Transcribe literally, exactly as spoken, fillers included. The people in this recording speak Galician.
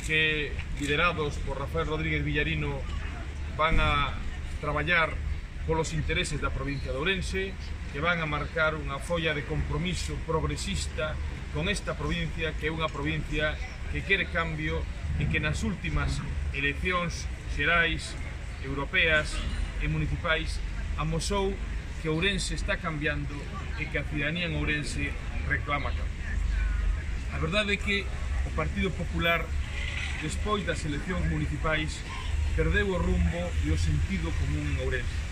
que, liderados por Rafael Rodríguez Villarino, van a traballar polos intereses da provincia de Ourense, que van a marcar unha folla de compromiso progresista con esta provincia, que é unha provincia que quere cambio e que nas últimas eleccións xerais, europeas e municipais amosou que Ourense está cambiando e que a cidadanía en Ourense reclama cambio. A verdade é que o Partido Popular, despois das eleccións municipais, perdeu o rumbo e o sentido común en Ourense.